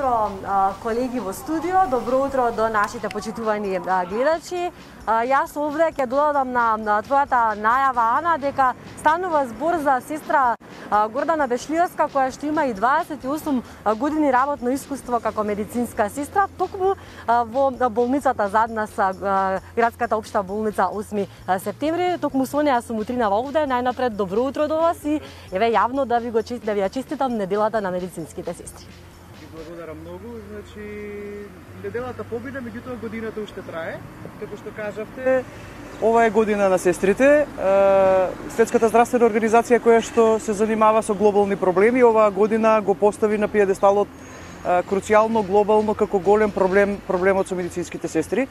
утро, колеги во студио, добро утро до нашите почитувани гледачи. Јас овде ќе додадам на твојата најава, Ана, дека станува збор за сестра Гордана Бешлиевска, која што има и 28 години работно искуство како медицинска сестра, токму во болницата зад нас, градската општа болница 8 септември. Токму со неа сум утринава овде. Најнапред добро утро до вас и еве јавно да ви ја честитам неделата на медицинските сестри. Благодарам многу. Значи, неделата победа, меѓутоа годината уште трае. Како што кажавте, ова е година на сестрите. Светската здравствена организација која што се занимава со глобални проблеми, оваа година го постави на пиедесталот круцијално, глобално, како голем проблемот со медицинските сестри,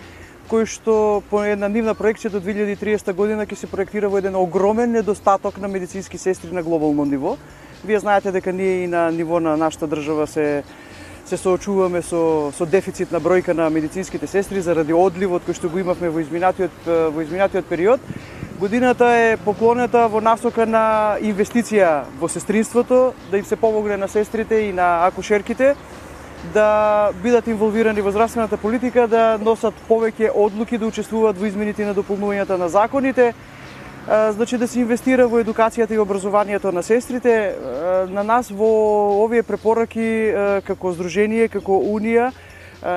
кој што по една нивна проекција до 2030 година ќе се проектира во еден огромен недостаток на медицински сестри на глобално ниво. Вие знаете дека ние и на ниво на нашата држава се соочуваме со дефицит на бројка на медицинските сестри заради одливот кој што го имавме во изминатиот период. Годината е поклонета во насока на инвестиција во сестринството, да им се помогне на сестрите и на акушерките да бидат инволвирани во здравствената политика, да носат повеќе одлуки, да учествуваат во измените на дополнувањата на законите, значи да се инвестира во едукацијата и образованието на сестрите. На нас во овие препораки како здружение, како унија,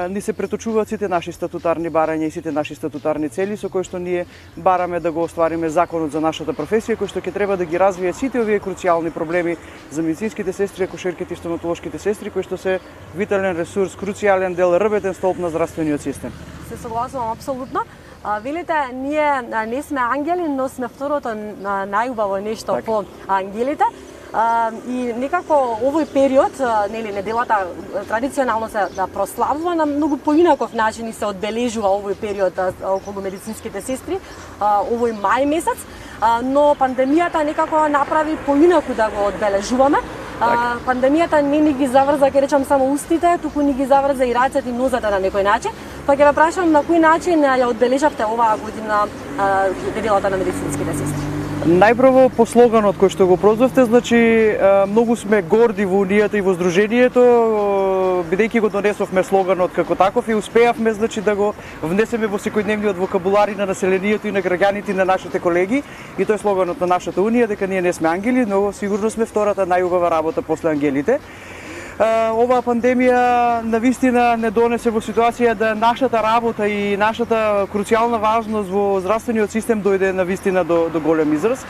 ни се преточуваат сите наши статутарни барања и сите наши статутарни цели со кои што ние бараме да го оствариме законот за нашата професија, кој што ќе треба да ги развие сите овие круцијални проблеми за медицинските сестри, акушерките и стоматолошките сестри, кои што се витален ресурс, круцијален дел, рбетен столб на здравствениот систем. Се согласувам апсолутно. Велите, ние не сме ангели, но сме второто најубаво нешто по ангелите. И некако овој период, неделата традиционално се прославува на многу поинаков начин и се одбележува овој период околу медицинските сестри, овој мај месец, но пандемијата некако направи поинаку да го одбележуваме. Пандемијата не ни ги заврза, ќе речам, само устите, туку ни ги заврза и рацете и нозете на некој начин. Па ќе ве прашам на кој начин ја одбележавте оваа година неделата на медицинските сестри? Најпрво по слоганот кој што го прозвавте, значи многу сме горди во унијата и во здружението, бидејќи го донесовме слоганот како таков и успеавме значи да го внесеме во секојдневниот вокабулари на населението и на граѓаните и на нашите колеги, и тој е слоганот на нашата унија дека ние не сме ангели, но сигурно сме втората најубава работа после ангелите. Оваа пандемија навистина не донесе во ситуација да нашата работа и нашата круцијална важност во здравствениот систем дојде навистина до голем израз.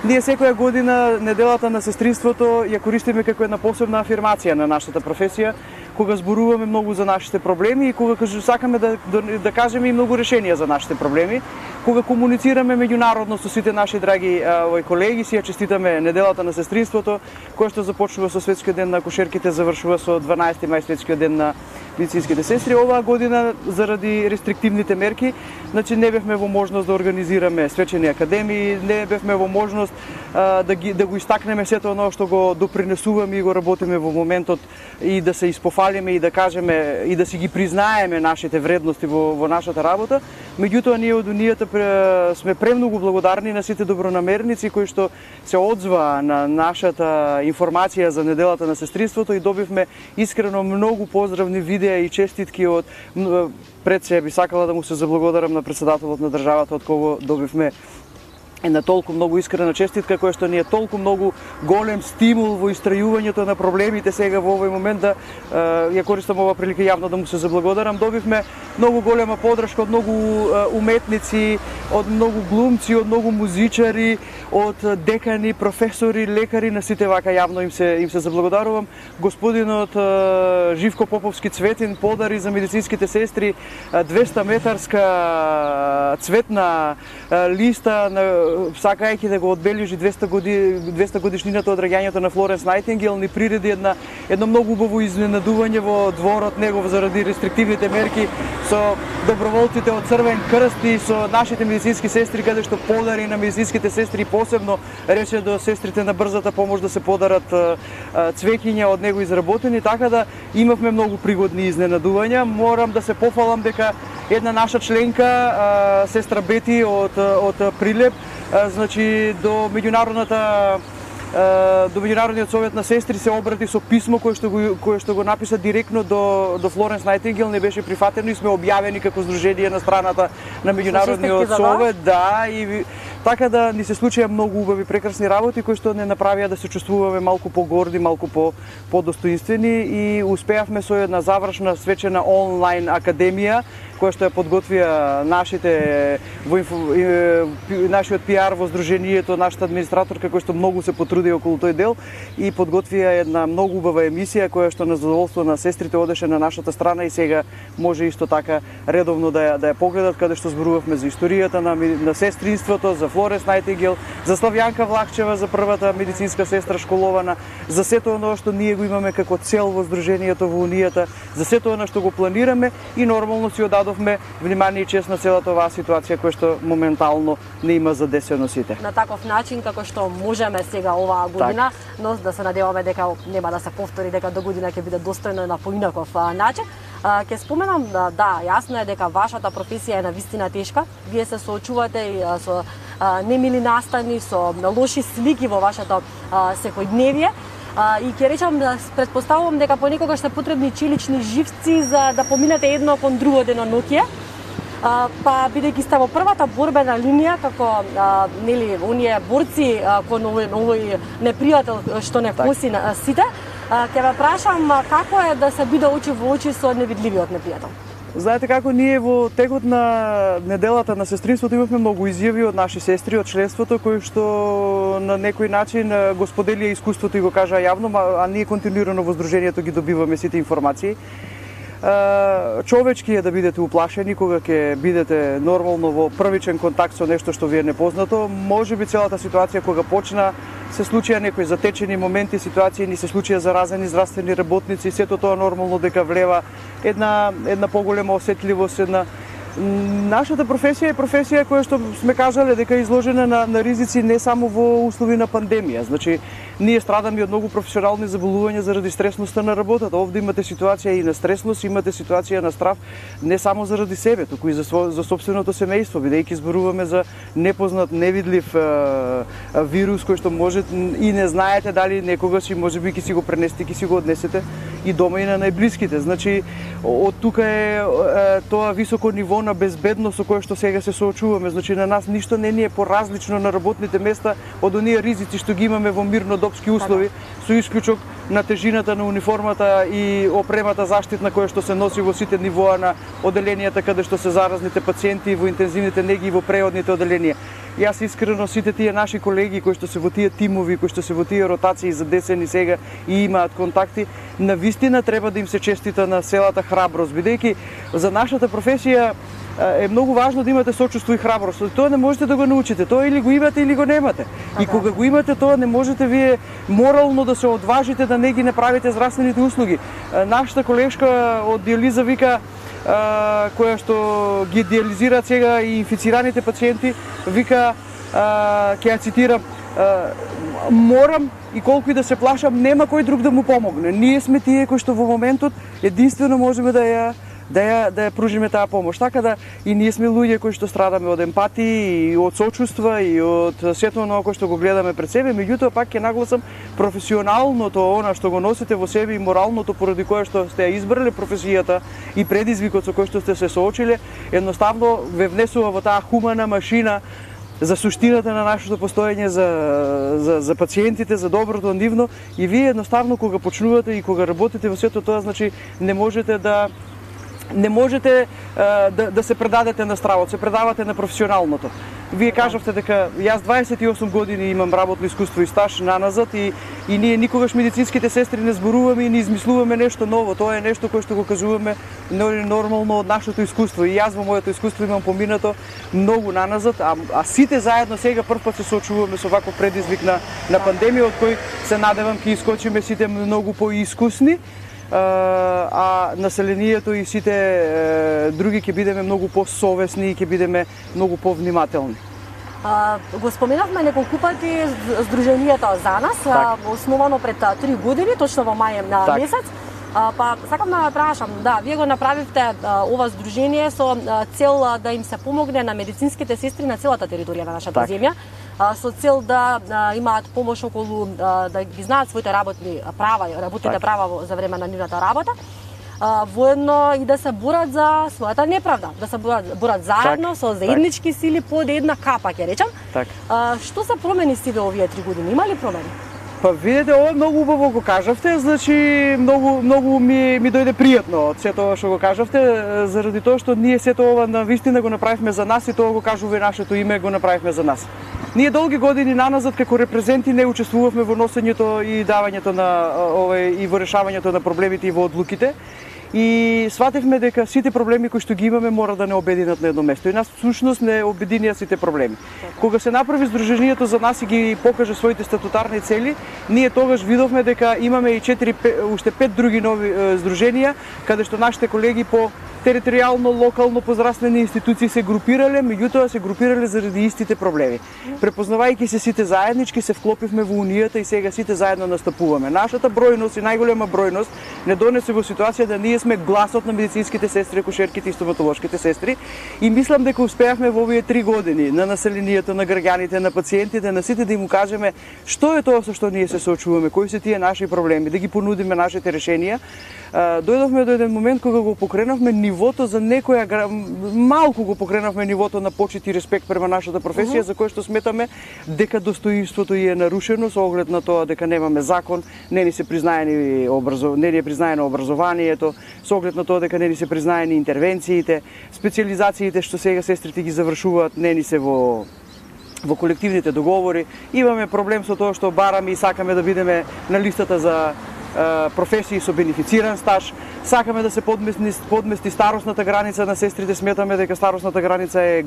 Ние секоја година неделата на сестринството ја користиме како една посебна афирмација на нашата професија, кога зборуваме многу за нашите проблеми и кога сакаме да кажеме и многу решенија за нашите проблеми, кога комуницираме меѓународно со сите наши драги колеги, си ја честитаме неделата на сестринството, која што започнува со Светскиот ден на акушерките, завршува со 12 мај Светскиот ден на медицинските сестри. Оваа година заради рестриктивните мерки, значи не бевме во можност да организираме свечени академии, не бевме во можност да го истакнеме сето оно што го допринесуваме и го работиме во моментот и да се испофалиме и да кажеме и да си ги признаеме нашите вредности во нашата работа. Меѓутоа ние од унијата сме премногу благодарни на сите добронамерници кои што се одзва на нашата информација за неделата на сестринството и добивме искрено многу поздравни видеа и честитки од пред се би сакала да му се заблагодарам на председателот на државата од кого добивме една толку многу искрена честитка која што ни е толку многу голем стимул во истрајувањето на проблемите сега во овој момент да ја користам оваа прилика јавно да му се заблагодарам. Добивме многу голема поддршка од многу уметници, од многу глумци, од многу музичари, од декани, професори, лекари, на сите вака јавно им се заблагодарувам. Господинот Живко Поповски Цветин подари за медицинските сестри 200 метарска цветна листа сакајќи да го одбележи 200 годишнината од раѓањето на Флоренс Најтингел, ни приреди едно многу убаво изненадување во дворот негов заради рестриктивните мерки со доброволците од Црвен крст и со нашите медицински сестри, каде што подари на медицинските сестри, посебно рече до сестрите на брзата помош да се подарат цвеќиња од него изработени, така да имавме многу пригодни изненадувања. Морам да се пофалам дека една наша членка, сестра Бети од Прилеп, значи до меѓународната до Меѓународниот совет на сестри се обрати со писмо кое што го написа директно до Флоренс Најтингел, не беше прифатено и сме објавени како здружение на страната на Меѓународниот совет, да, и така да ни се случија многу убави прекрасни работи кои што не направија да се чувствуваме малку погорди, малку подостоинствени и успеавме со една завршна свечена онлайн академија која што ја подготвија нашиот пиар во здруженијето, нашата администраторка која што многу се потруди околу тој дел и подготвија една многу убава емисија која што на задоволство на сестрите одеше на нашата страна и сега може исто така редовно да ја погледат, каде што зборувавме за историјата на сестринството, за Флоренс Најтингел, за Славјанка Влахчева, за првата медицинска сестра школована, за сето оно што ние го имаме како цел во здруженијето, во унијата, за сето оно што го планираме и нормално си одадовме внимание и чест на целата оваа ситуација која што моментално не има задесено сите. На таков начин како што можеме сега оваа година, но да се надеваме дека нема да се повтори, дека до година ќе биде достојно на поинаков начин. Ќе споменам, да, јасно е дека вашата професија е навистина тешка. Вие се соочувате и со немили настани, со лоши слики во вашето секојдневие. И ќе речам да претпоставувам дека понекогаш се потребни челични живци за да поминете едно кон друго деноноќие. Па бидејќи сте во првата борбена линија како нели оние борци кон овој непријател што не коси на сите, ќе ве прашам како е да се биде очи во очи со невидливиот непријател. Знаете како, ние во текот на неделата на сестринството имавме многу изјави од наши сестри од членството кои што на некој начин го споделија искуството и го кажаа јавно, а ние континуирано во здруженијето ги добиваме сите информации. Човечки е да бидете уплашени кога ќе бидете нормално во првичен контакт со нешто што ви е непознато. Можеби целата ситуација кога почна се случија некои затечени моменти, ситуации, ни се случија заразени здравствени работници, сето тоа нормално дека влева една поголема осетливост, Нашата професија е професија која што сме кажале дека е изложена на ризици не само во услови на пандемија. Значи, ние страдаме од многу професионални заболувања заради стресноста на работата. Овде имате ситуација и на стресност, имате ситуација на страв не само заради себе, туку и за собственото семејство, бидејќи зборуваме за непознат, невидлив вирус кој што може и не знаете дали некогаш и можеби ќе си го пренесете, ќе си го однесете и дома и на најблиските. Значи, од тука е тоа високо ниво на безбедност со кое што сега се соочуваме. Значи, на нас ништо не ни е поразлично на работните места од оние ризици што ги имаме во мирнодопски услови, со исклучок на тежината на униформата и опремата заштитна која што се носи во сите нивоа на оделенијата каде што се заразните пациенти, во интензивните неги и во преодните оделенија. Јас искрено сите тие наши колеги кои што се во тие тимови, кои што се во тие ротации задесени сега и имаат контакти, навистина треба да им се честита на селата храброст, бидејќи за нашата професија е многу важно да имате сочувство и храброст. Тоа не можете да го научите, тоа или го имате или го немате. И кога го имате тоа не можете вие морално да се одважите да не ги направите здравствените услуги. Нашата колешка од диализа вика која што ги диализираат сега и инфицираните пациенти, вика, ќе ја цитирам, морам и колку и да се плашам, нема кој друг да му помогне. Ние сме тие кои што во моментот единствено можеме да ја пружиме таа помош. Така да и ние сме луѓе кои што страдаме од емпатија и од сочувства и од сето оно кој што го гледаме пред себе, меѓутоа пак ќе нагласам професионалното она што го носите во себе и моралното поради кое што сте ја избрале професијата и предизвикот со кој што сте се соочиле, едноставно ве внесува во таа хумана машина за суштината на нашето постоење, за пациентите, за доброто нивно, и вие едноставно кога почнувате и кога работите во сето тоа, значи не можете да се предадете на стравот, се предавате на професионалното. Вие кажавте дека јас 28 години имам работно искуство и стаж наназад и ние никогаш медицинските сестри не зборуваме и не измислуваме нешто ново. Тоа е нешто кое што го кажуваме нормално од нашето искуство. И јас во моето искуство имам поминато многу наназад, а сите заедно сега првпат се соочуваме со ваков предизвик на пандемија, од кој се надевам ќе искочиме сите многу поискусни, а населението и сите други ќе бидеме многу посовесни и ќе бидеме многу повнимателни. Го споменавме неколку пати Сдруженијето за нас, основано пред 3 години, точно во мај месец. Па сакам да прашам, да, вие го направивте ова здружение со цел да им се помогне на медицинските сестри на целата територија на нашата земја. со цел да имаат помош околу да ги знаат своите работни права, работните права за време на нивната работа. Воедно и да се борат за својата неправда, да се борат заедно со заеднички сили под една капа, ќе речам. Што се промени сиве овие 3 години? Има ли промени? Па видете, ова многу убаво го кажавте, значи многу ми дојде пријатно од сето ова што го кажавте, заради тоа што ние сето ова навистина го направивме за нас и тоа го кажува и нашето име, го направивме за нас. Ние долги години наназад како репрезенти не учествувавме во носењето и давањето на и во решавањето на проблемите и во одлуките. И сватевме дека сите проблеми кои што ги имаме мора да не обединат на едно место. И нас всушност не обединија сите проблеми. Кога се направи Сдруженијето за нас и ги покаже своите статутарни цели, ние тогаш видовме дека имаме и уште 5 други нови здруженија, каде што нашите колеги по територијално, локално, по здравствени институции се групирале, меѓутоа се групирале заради истите проблеми. Препознавајќи се сите заеднички, се вклопивме во Унијата и сега сите заедно настапуваме. Нашата бројност и најголема бројност не донесе во ситуација да ние сме гласот на медицинските сестри, акушерките и стоматолошките сестри и мислам дека успеавме во овие 3 години на населението, на граѓаните, на пациентите, на сите да им кажеме што е тоа со што ние се соочуваме, кои се тие наши проблеми, да ги понудиме нашите решенија. Дојдовме до еден момент кога го покренавме нивото за некоја малку го покренавме нивото на почит и респект према нашата професија, за кој што сметаме дека достоинството е нарушено со оглед на тоа дека немаме закон, не ни е признаено образованието, со оглед на тоа дека не ни се признаени интервенциите, специализациите што сега сестрите ги завршуваат, не ни се во колективните договори. Имаме проблем со тоа што бараме и сакаме да бидеме на листата за професии со бенефициран стаж. Сакаме да се подмести старосната граница на сестрите, сметаме дека старосната граница е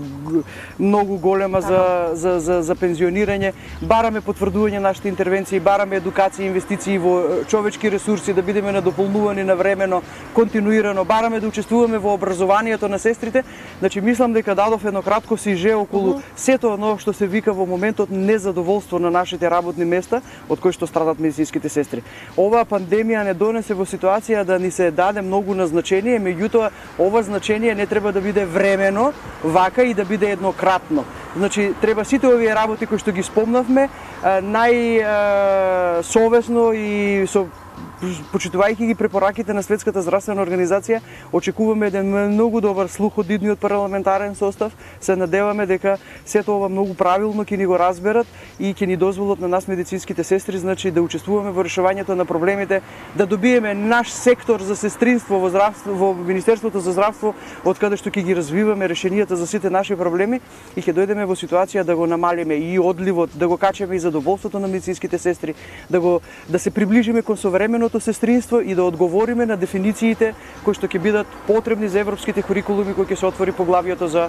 многу голема за пензионирање. Бараме потврдување нашите интервенции, бараме едукација, инвестиции во човечки ресурси, да бидеме надополнувани навремено, континуирано. Бараме да учествуваме во образованието на сестрите. Значи мислам дека дадов едно кратко сиже околу сето оно што се вика во моментот незадоволство на нашите работни места од кои што страдат медицинските сестри. Оваа пандемија не донесе во ситуација да ни се даде многу на значение, меѓутоа ова значение не треба да биде времено, вака и да биде еднократно. Значи треба сите овие работи кои што ги спомнавме најсовесно и со почитувајќи ги препораките на Светската здравствена организација, очекуваме еден многу добар слух од идниот парламентарен состав. Се надеваме дека сето ова многу правилно ќе ни го разберат и ќе ни дозволат на нас медицинските сестри, значи да учествуваме во решавањето на проблемите, да добиеме наш сектор за сестринство во Министерството за здравство, од каде што ќе ги развиваме решенијата за сите наши проблеми и ќе дојдеме во ситуација да го намалиме и одливот, да го качеме и задоволството на медицинските сестри, да се приближиме кон современото сестринство и да одговориме на дефинициите кои што ќе бидат потребни за европските курикулуми кои ќе се отвори поглавието за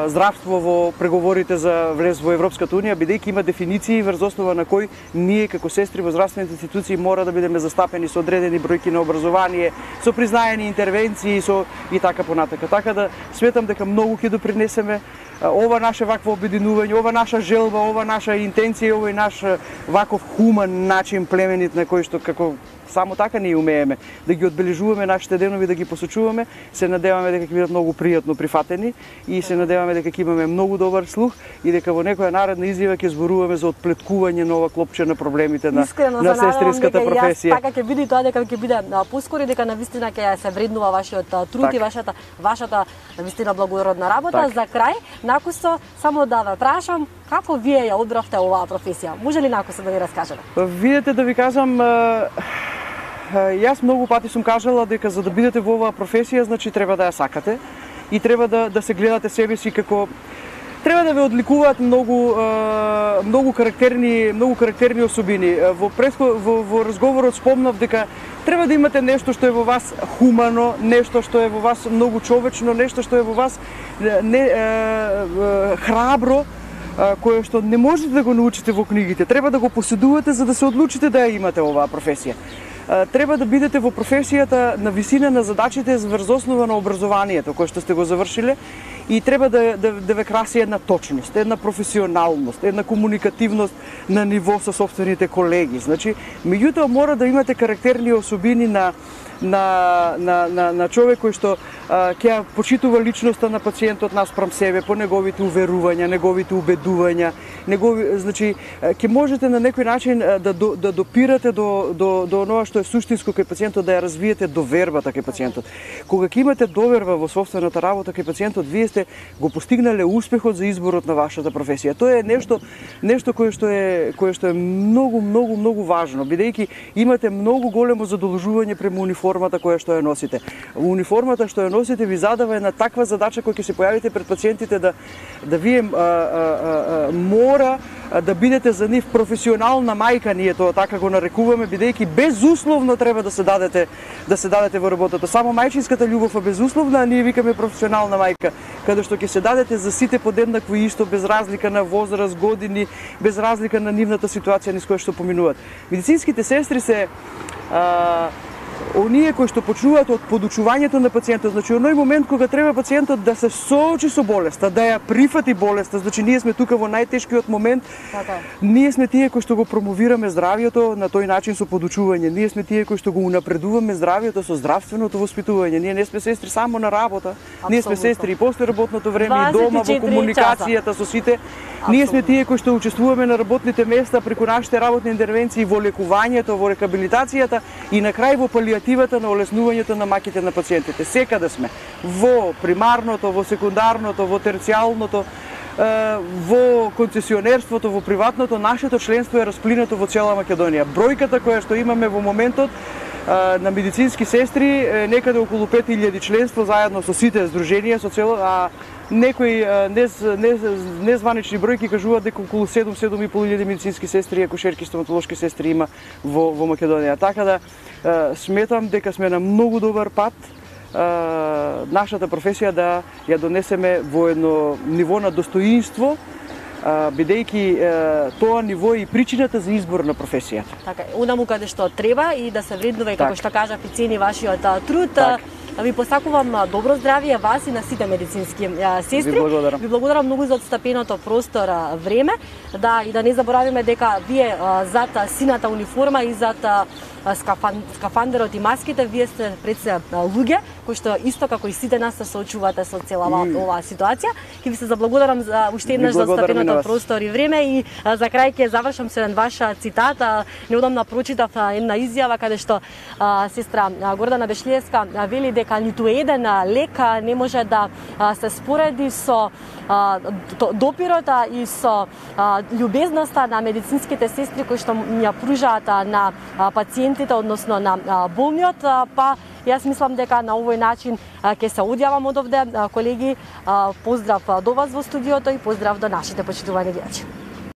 здравство во преговорите за влез во Европската унија, бидејќи има дефиниции врз основа на кои ние како сестри во здравствените институции мора да бидеме застапени со одредени бројки на образование, со признаени интервенции и така понатака. Така да сметам дека многу ќе допринесеме ова наше вакво обединување, ова наша желба, ова наша интенција, овој наш ваков хуман начин племенит на кој што како само така ние умееме да ги одбележуваме нашите денови, да ги посочуваме. Се надеваме дека ќе бидат многу пријатно прифатени и се надеваме дека ќе имаме многу добар слух и дека во некоја наредна изјава ќе зборуваме за отплеткување на ова клопче на проблемите на сестринската професија. Така ќе биде тоа, дека ќе биде поскоро дека навистина ќе се вреднува вашиот труд и вашата навистина благородна работа. За крај, накусо само да ве прашам, како вие ја одбравте оваа професија? Може ли накусо да ни раскажете? Видете, да ви кажам, јас многу пати сум кажала дека за да бидете во оваа професија, значи треба да ја сакате и треба да се гледате себе си како треба да ве одликуваат многу карактерни особини. Во разговорот спомнав дека треба да имате нешто што е во вас хумано, нешто што е во вас многу човечно, нешто што е во вас храбро, кое што не можете да го научите во книгите. Треба да го поседувате за да се одлучите да ја имате оваа професија. Треба да бидете во професијата на висина на задачите врз основа на образованието кое што сте го завршиле и треба да ве краси една точност, една професионалност, една комуникативност на ниво со сопствените колеги. Значи, меѓутоа мора да имате карактерни особини на човек кој што ќе почитува личноста на пациентот наспрам себе по неговите уверувања, неговите убедувања, значи ќе можете на некој начин да допирате до оноа што е суштинско кај пациентот, да ја развиете довербата кај пациентот. Кога ќе имате доверба во сопствената работа кај пациентот, вие сте го постигнале успехот за изборот на вашата професија. Тоа е нешто кое што е многу важно, бидејќи имате многу големо задолжување према униформата која што ја носите. Униформата што ја носите ви задава една таква задача која ќе се појавите пред пациентите да вие мора да бидете за нив професионална мајка, ние тоа така го нарекуваме, бидејќи безусловно треба да се дадете во работата. Само мајчинската љубов е безусловна, а ние викаме професионална мајка, каде што ќе се дадете за сите подеднакво исто, без разлика на возраст, години, без разлика на нивната ситуација низ која што поминуваат. Медицинските сестри се оние кои што почнуваат од подучувањето на пациентот, значи оној момент кога треба пациентот да се соочи со болеста, да ја прифати болеста, значи ние сме тука во најтешкиот момент. Ние сме тие кои што го промовираме здравјето на тој начин со подучување. Ние сме тие кои што го унапредуваме здравјето со здравственото воспитување. Ние не сме сестри само на работа. Ние сме сестри и после работното време, и дома, во комуникацијата со сите. Ние сме тие кои што учествуваме на работните места преку нашите работни интервенции во лекувањето, во рехабилитацијата и на крај во палијативата на олеснувањето на маките на пациентите. Секаде сме. Во примарното, во секундарното, во терцијалното, во концесионерството, во приватното, нашето членство е расплинато во цела Македонија. Бројката која што имаме во моментот на медицински сестри е некаде околу 5000 членство заедно со сите здруженија, со цело, некои незванични бројки кажуваат дека околу 7-7.500 медицински сестри и акушерки стоматолошки сестри има во Македонија. Така да сметам дека сме на многу добар пат нашата професија да ја донесеме во едно ниво на достоинство, бидејќи тоа ниво е и причината за избор на професијата. Така, онаму каде што треба и да се вреднува и како што кажав и цени вашиот труд. Ви посакувам добро здравје вас и на сите медицински сестри. Ви благодарам многу за отстапеното простор, време. И да не заборавиме дека вие зад сината униформа и зад скафандерот и маските, вие сте пред се луѓе кои што исто како и сите нас се соочувате со целава оваа ситуација. Ќе ви се заблагодарам за уште еднаш за отстапеното простор и време и за крај ќе завршам со еден ваш цитат. Неодамна прочитав една изјава каде што сестра Гордана Бешлиевска вели дека ниту еден лек не може да се спореди со допирот и со љубезноста на медицинските сестри кои што ја пружаат на пациентите, односно на болниот, па јас мислам дека на овој начин ќе се одјавам од овде. Колеги, поздрав до вас во студиото и поздрав до нашите почитувани гледачи.